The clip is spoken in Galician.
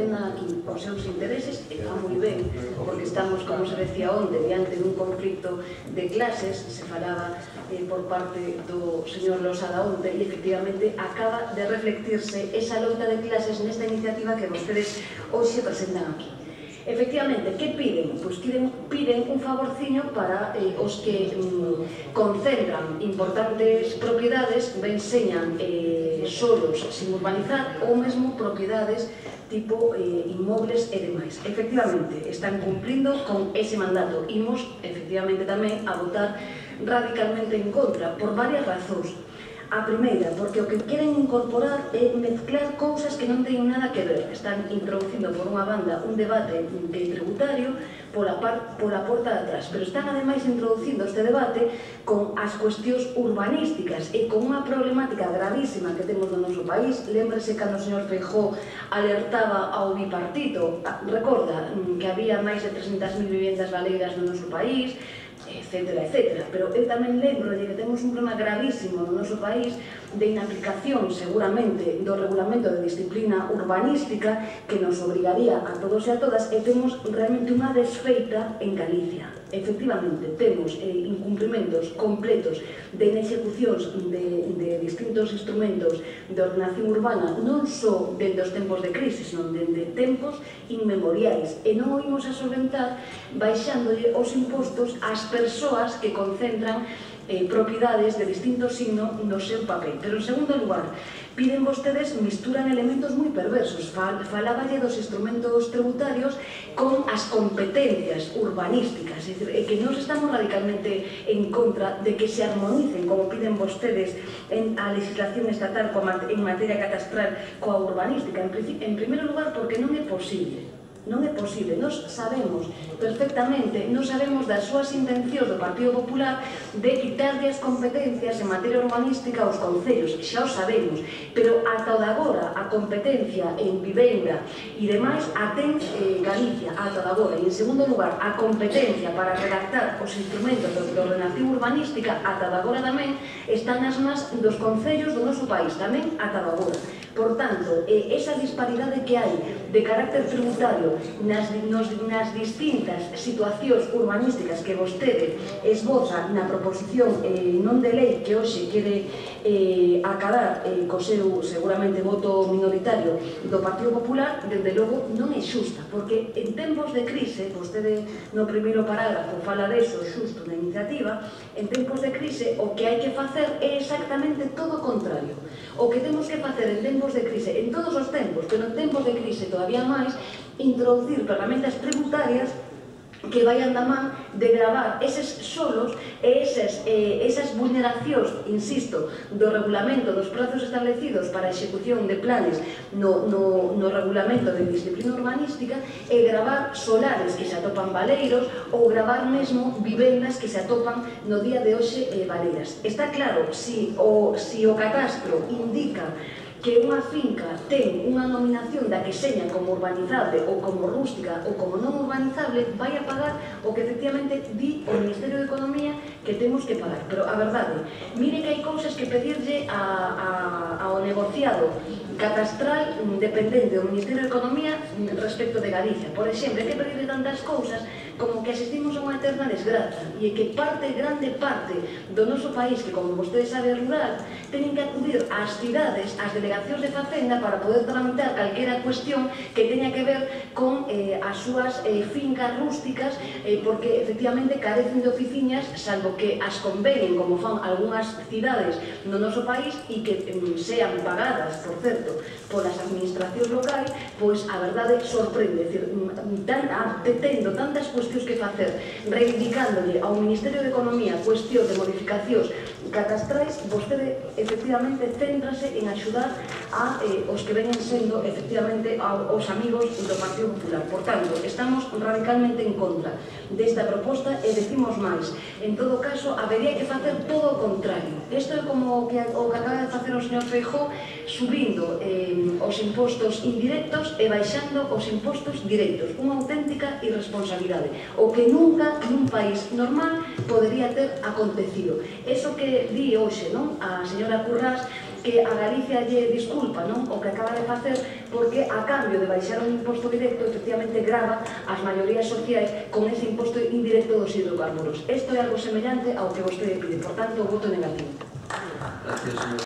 defendan aquí os seus intereses, e está moi ben, porque estamos, como se decía onte, diante dun conflicto de clases, se falaba por parte do señor Losada onte, e efectivamente acaba de reflectirse esa loita de clases nesta iniciativa que vostedes hoxe presentan aquí. Efectivamente, que piden? Pois piden un favorciño para os que concentran importantes propiedades, ben señan solos sin urbanizar ou mesmo propiedades tipo inmobles e demais. Efectivamente, están cumplindo con ese mandato. Imos, efectivamente, tamén a votar radicalmente en contra, por varias razóns. A primeira, porque o que queren incorporar é mezclar cousas que non teñen nada que ver. Están introducindo por unha banda un debate tributario pola porta de atrás, pero están ademais introducindo este debate con as cuestións urbanísticas e con unha problemática gravísima que temos no noso país. Lémbrese cando o señor Feijóo alertaba ao bipartito, recorda que había máis de 300.000 vivendas baleiras no noso país, etcétera, etcétera. Pero eu tamén lembro de que temos un problema gravísimo no noso país de inaplicación, seguramente, do regulamento de disciplina urbanística que nos obrigaría a todos e a todas, e temos realmente unha desfeita en Galicia. Efectivamente, temos incumprimentos completos de execucións de distintos instrumentos de ordenación urbana, non só dende os tempos de crise, senón dende tempos inmemoriais, e non o imos a solventar baixándolle os impostos ás persoas que concentran propiedades de distinto signo no seu papel. Pero, en segundo lugar, piden vostedes, misturan elementos moi perversos. Falaballe dos instrumentos tributarios con as competencias urbanísticas. É dicir, que nós estamos radicalmente en contra de que se armonicen, como piden vostedes, a legislación estatal en materia catastral coa urbanística. En primeiro lugar, porque non é posible. Non é posible. Nos sabemos perfectamente, nos sabemos das súas intencións do Partido Popular de quitarlle as competencias en materia urbanística aos concellos, xa o sabemos, pero ata o de agora a competencia en vivenda e demais a ten Galicia, ata o de agora. E en segundo lugar, a competencia para redactar os instrumentos de ordenación urbanística ata o de agora tamén están nas mans dos concellos do noso país, tamén ata o de agora. Por tanto, esa disparidade que hai de carácter tributario nas distintas situacións urbanísticas que vostede esboza na proposición non de lei que hoxe quere acadar co seu seguramente voto minoritario do Partido Popular, desde logo non é xusta, porque en tempos de crise, vostede no primeiro parágrafo fala deso xusto na iniciativa, en tempos de crise o que hai que facer é exactamente todo o contrario. O que temos que facer en tempos de crise, en todos os tempos, pero en tempos de crise todavía máis, introducir ferramentas tributarias que vayan da man de gravar eses solos e esas vulneracións, insisto, do regulamento dos prazos establecidos para a execución de planes no regulamento de disciplina urbanística, e gravar solares que se atopan baleiros ou gravar mesmo vivendas que se atopan no día de hoxe baleiras. Está claro, si o catastro indica que unha finca ten unha nominación da que seña como urbanizable ou como rústica ou como non urbanizable, vai a pagar o que efectivamente di o Ministerio de Economía que temos que pagar. Pero a verdade, mire que hai cousas que pedirlle ao negociado catastral dependente do Ministerio de Economía respecto de Galicia. Por exemplo, hai que pedirle tantas cousas como que asistimos a unha eterna desgraza e que grande parte do noso país, que como vostede sabe é rural, teñen que acudir ás cidades, ás delegacións de Facenda para poder tramitar calquera cuestión que teña que ver con as súas fincas rústicas, porque efectivamente carecen de oficinas, salvo que as convenen, como fan algunhas cidades no noso país, e que sean pagadas, por certo, polas administracións locais. Pois a verdade sorprende, tendo tantas cuestións que facer, reivindicándolle ao Ministerio de Economía cuestión de modificacións catastrais, vostede efectivamente céntrase en axudar a os que venen sendo efectivamente os amigos do Partido Popular. Por tanto, estamos radicalmente en contra desta proposta e decimos máis. En todo caso, habería que facer todo o contrario. Isto é como o que acaba de facer o señor Feijóo, subindo os impostos indirectos e baixando os impostos directos. Unha auténtica irresponsabilidade. O que nunca nun país normal podería ter acontecido. Eso que di hoxe a señora Currás que a Galicia lle disculpa, non? O que acaba de facer, porque a cambio de baixar un imposto directo, efectivamente grava as maiorías sociais con ese imposto indirecto dos hidrocarburos. Isto é algo semellante ao que vostede pide, por tanto, voto negativo. Gracias, señor.